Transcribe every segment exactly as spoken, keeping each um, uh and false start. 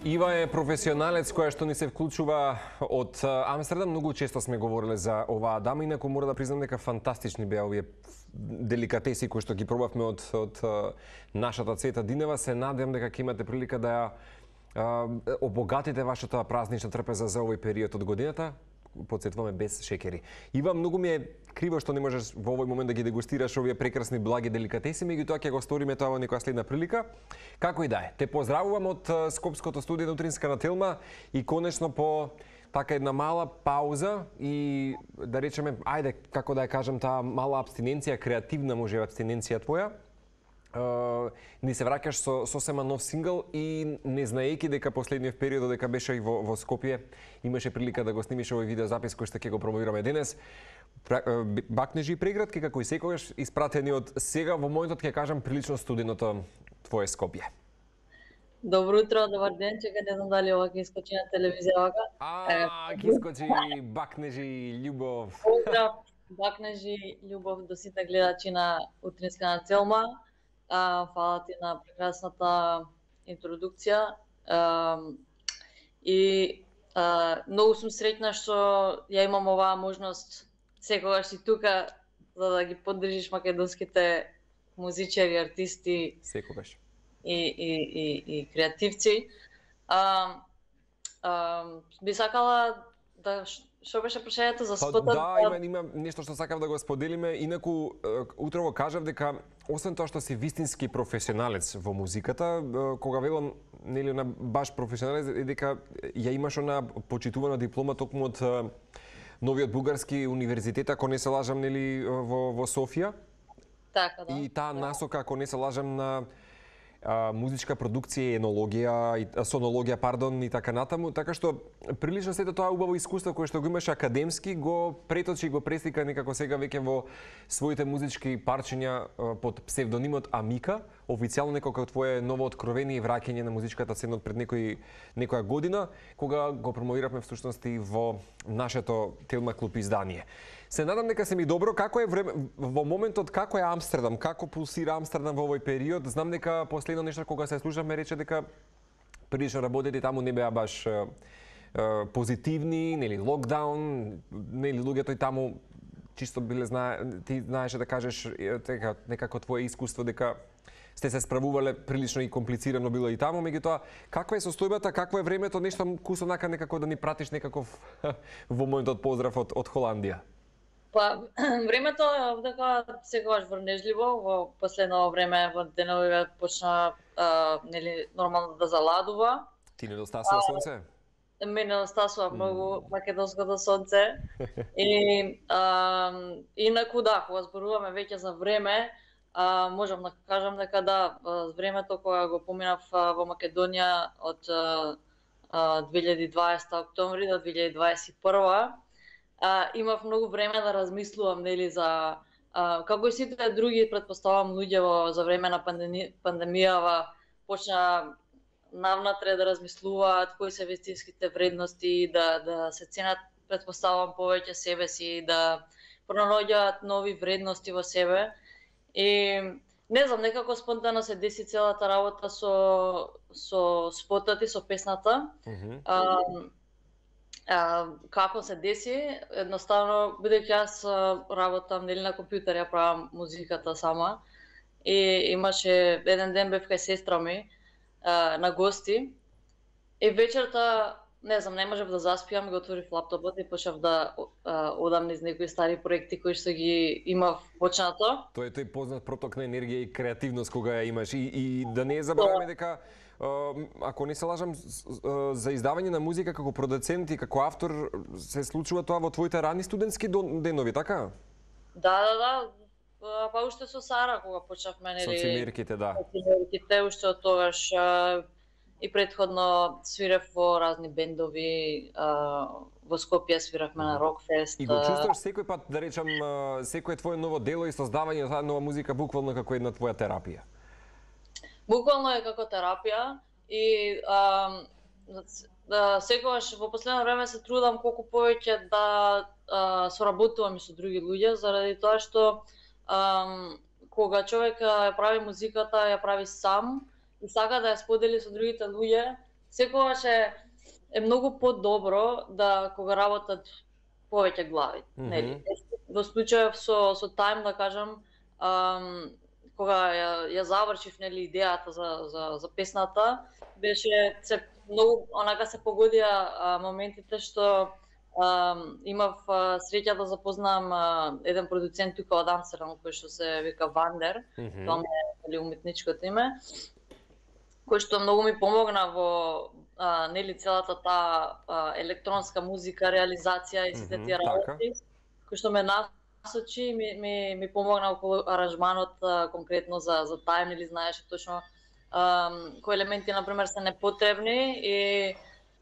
Ива е професионалец која што ни се вклучува од Амстердам. Многу често сме говореле за оваа дама, инаку мора да признам дека фантастични беа овие деликатеси кои што ги пробавме од, од нашата Цвета Динева. Се надевам дека ќе имате прилика да ја обогатите вашата празнична трпеза за овој период од годината. Подсетуваме без шекери. Ива, многу ми е криво што не можеш во овој момент да ги дегустираш овие прекрасни благи деликатеси, меѓутоа ќе го сториме тоа во некоја следна прилика. Како и да е, те поздравувам од Скопското студио на Утринска на Телма и конечно по така една мала пауза и да речеме, ајде, како да ја кажам, таа мала абстиненција, креативна може абстиненција твоја. Uh, ни се враќаш со сосема нов сингл и не знаејќи дека последниот период дека беше и во, во Скопје имаше прилика да го снимиш овој видеозапис кој што ќе го промовираме денес. Бакнежи и преградки како и секогаш испратени од сега во моментот ќе кажам прилично студеното твое Скопје. Добро утро, добар ден, чека не знам дали ова ќе искочи на телевизија вака. А, ќе искочи бакнежи, љубов. Поздрав, бакнежи, љубов до сите гледачи на Утринска на Телма. А, фала ти на прекрасната интродукција. А, и а, многу сум среќна што ја имам оваа можност секогаш си тука за да ги поддржиш македонските музичари, артисти. Секогаш. И, и, и, и креативци. А, а, би сакала да што беше прашањето за спотот? Да, има, има нешто што сакав да го споделиме. Инаку, утрово кажав дека, освен тоа што си вистински професионалец во музиката, кога велам, нели, на баш професионалец, е дека ја имаш она почитувана диплома токму од новиот бугарски универзитет, ако не се лажам, нели, во, во Софија. Така, да. И таа насока, ако не се лажам, на а, музичка продукција, енологија, и, сонологија, пардон, и така натаму, така што прилично сето тоа убаво искуство кое што го имаш академски, го преточи, го преслика некако сега веќе во своите музички парчиња под псевдонимот Амика, официјално некако твое ново откровение и враќање на музичката сцена пред некој некоја година, кога го промовиравме всушности во нашето Телма клуб издание. Се надам дека се ми добро. Како е време во моментот, како е Амстердам, како пулсира Амстердам во овој период? Знам дека последно нешто кога се слушавме рече дека прилично работите таму не беа баш е, е, позитивни, нели локдаун, нели луѓето и таму чисто биле знае, ти знаеше да кажеш дека некако твое искуство дека сте се справувале прилично и комплицирано било и таму, меѓутоа каква е состојбата, какво е времето, нешто кусо нака некако да ни пратиш некаков во моментот поздрав од од Холандија. Па, времето е дека секогаш врнежливо, во последно време во деновиве почна а, нели нормално да заладува. Ти недостасува сонце? Ме недостасува многу македонското сонце. И а, инаку да, кога зборуваме веќе за време, а, можам да кажам дека да, времето кога го поминав во Македонија од а, две илјади и дваесета октомври до две илјади дваесет и прва, А, имав многу време да размислувам, нели, за а, како и сите други, претпоставам, луѓе во за време на пандеми, пандемијава почна навнатре да размислуваат кои се вистинските вредности, да да се ценат, претпоставам, повеќе себе си, да пронаоѓаат нови вредности во себе. И не знам, некако спонтано се деси целата работа со со спотот и со песната. Mm-hmm. а, А, како се деси, едноставно, бидејќи јас работам нели на компјутер, ја правам музиката сама, и имаше еден ден бев кај сестра ми а, на гости, и вечерта, не знам, не можев да заспиам, го отворив лаптопот и почнав да а, одам низ некои стари проекти кои што ги имав почнато. Тоа е тој познат проток на енергија и креативност кога ја имаш, и, и да не забраваме дека ако не се лажам, за издавање на музика како продуцент и како автор се случува тоа во твоите рани студентски денови, така? Да, да, да. Па уште со Сара кога почнавме, нели? Со цимерките, да. Со цимерките, уште од тогаш и претходно свирев во разни бендови, во Скопје свиравме на Рокфест. И го чувствуваш секој пат, да речам, секое твое ново дело и создавање на нова музика буквално како една твоја терапија? Буквално е како терапија и а, да, секогаш во последно време се трудам колку повеќе да а, соработувам и со други луѓе, заради тоа што а, кога човек ја прави музиката, ја прави сам и сака да ја сподели со другите луѓе, секогаш е, е многу подобро да кога работат повеќе глави, mm -hmm. нели? Во случајов со со Time, да кажам, ам, кога ја, ја завршив, нели, идејата за за за песната, беше се многу онака се погодија а, моментите што а, имав а, среќа да запознам а, еден продуцент тука од Амстердам кој што се вика Вандер, mm -hmm. тоа е уметничкото име, кој што многу ми помогна во а, нели целата таа а, електронска музика, реализација и сите тие работи, кој што ме насочи, ми, ми, ми помогна околу аранжманот а, конкретно за за Time, или знаеше точно а, кои елементи на пример се непотребни и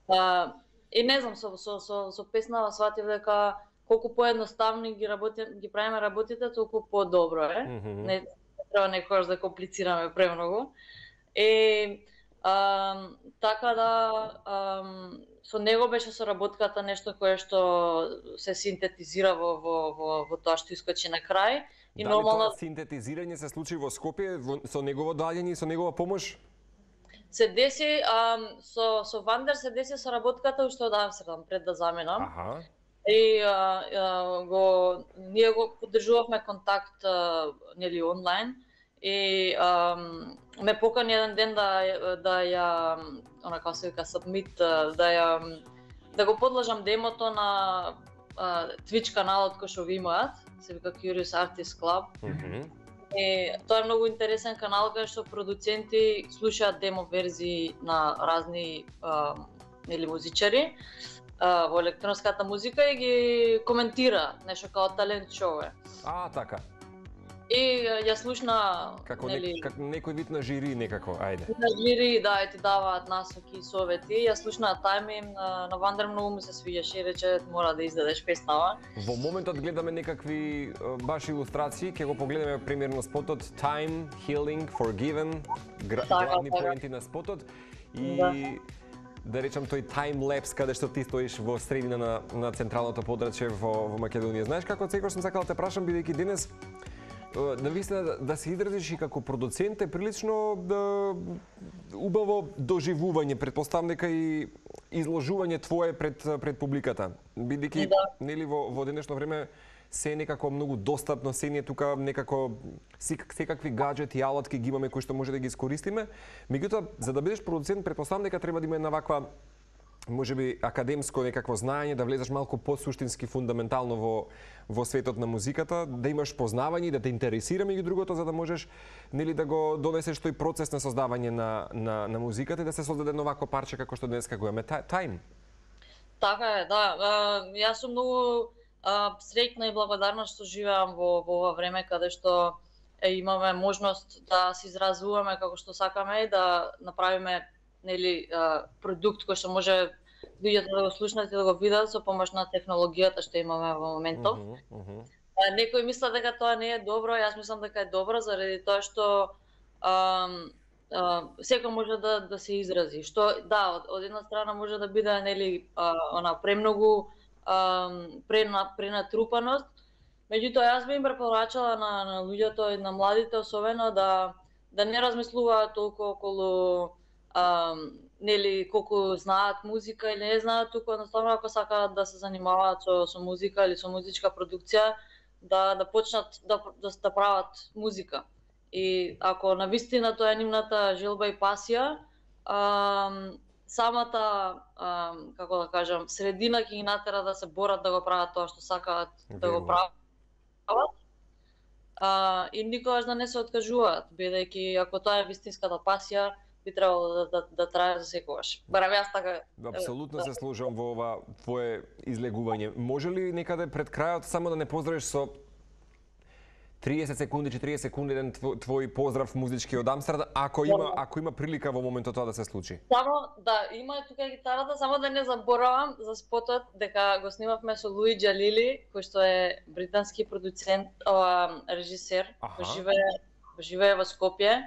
а, и не знам, со со со, со песнава сватив дека колку поедноставни ги работи ги правиме работите, толку подобро е. Mm -hmm. Не треба некогаш да комплицираме премногу. И а, така да а, со него беше соработката нешто кое што се синтетизира во во во, во тоа што искочи на крај. И дали нормално тоа синтетизирање се случи во Скопје во, со негово доаѓање и со негова помош? Се деси а, со со Вандер се деси соработката уште од Амстердам пред да заминам. Аха. И а, а, го ние го поддржувавме контакт а, нели онлайн. И um, ме покани еден ден да да ја онака се вика submit, да ја да го подлажам демото на uh, Twitch каналот кој што ви имаат, се вика Curious Artist Club. Mm -hmm. И тоа е многу интересен канал кај што продуценти слушаат демо верзии на разни uh, нели музичари uh, во електронската музика и ги коментира нешто као талент шоу е. А, така. И ја слушна како нели не, како некој вид на жири некако, ајде. На жири, да, и ти даваат насоки и совети. Ја слушна Time на, на Вандер, многу ми се свиѓаше и рече мора да издадеш песнава. Во моментот гледаме некакви баш илустрации, ќе го погледаме примерно спотот Time, Healing, Forgiven, гра, така, главни така. Поенти на спотот и да. Да речам тој таймлепс каде што ти стоиш во средина на на централното подрачје во во Македонија. Знаеш како секогаш сум сакал да те прашам бидејќи денес да висна да, да се изразиш и како продуцент е прилично да убаво доживување, претпоставам дека и изложување твое пред пред публиката. Бидејќи да. Нели во во денешно време се некако многу достапно, се не тука некако секакви гаджети и алатки ги имаме кои што може да ги искористиме. Меѓутоа, за да бидеш продуцент, претпоставам дека треба да има една ваква можеби академско некакво знаење, да влезеш малку посуштински фундаментално во во светот на музиката, да имаш познавање и да те интересира меѓу другото за да можеш нели да го донесеш тој процес на создавање на на на музиката и да се создаде едно вакво парче како што денеска го имаме Time. Така е, да. Јас сум многу среќна и благодарна што живеам во во ова време каде што е, имаме можност да се изразуваме како што сакаме и да направиме нели продукт кој што може луѓето да го слушнат и да го видат со помош на технологијата што имаме во моментов. Uh -huh, uh -huh. Некои мислат дека тоа не е добро, јас мислам дека е добро заради тоа што а, а, секој може да да се изрази. Што да, од, од една страна може да биде нели а, она премногу а, прена пренатрупаност. Меѓутоа јас би им препорачала на на луѓето и на младите особено да да не размислуваат толку околу Um, нели колку знаат музика или не знаат, туку едноставно ако сакаат да се занимаваат со со музика или со музичка продукција, да да почнат да да, да прават музика. И ако навистина тоа е нивната желба и пасија, um, самата um, како да кажам, средина ќе ги натера да се борат да го прават тоа што сакаат да го прават. Uh, и никогаш да не се откажуваат, бидејќи ако тоа е вистинската пасија, би требало да, да, да трае за секогаш. Барем јас така... Апсолутно се служам во ова твое излегување. Може ли некаде пред крајот само да не поздравиш со триесет секунди, четириесет секунди еден твој, твој поздрав музички од Амстердам, ако има ако има прилика во моментот тоа да се случи? Само да, има тука гитарата, само да не заборавам за спотот дека го снимавме со Луи Џалили, кој што е британски продуцент, ова режисер, кој живее живее во Скопје.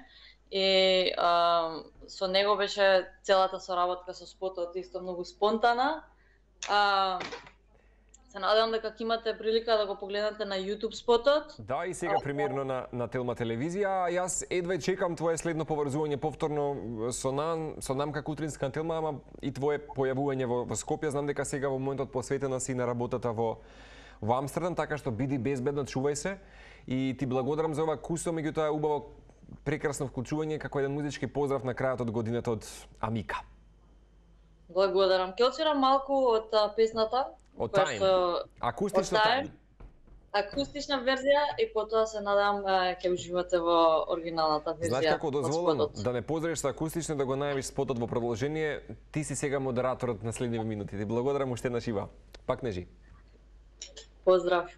И а, со него беше целата соработка со спотот исто многу спонтана. А, Се надевам дека ќе имате прилика да го погледнете на YouTube спотот. Да, и сега премиерно на, на Телма телевизија. Јас едва чекам твое следно поврзување повторно со нам, со нам како утринска Телма, ама и твое појавување во, во Скопје. Знам дека сега во моментот посветена си на работата во, во Амстердам, така што биди безбедно, чувај се. И ти благодарам за ова кусо, меѓутоа убаво прекрасно вклучување како еден музички поздрав на крајот од годината од Амика. Благодарам. Ќе отсвирам малку од а, песната. Од Time. Акустична Time. Акустична верзија и потоа се надам ќе уживате во оригиналната верзија. Знаеш како дозволено да не поздравиш со акустично, да го најавиш спотот во продолжение, ти си сега модераторот на следниве минути. Ти благодарам уште еднаш Ива. Пак нежи. Поздрав.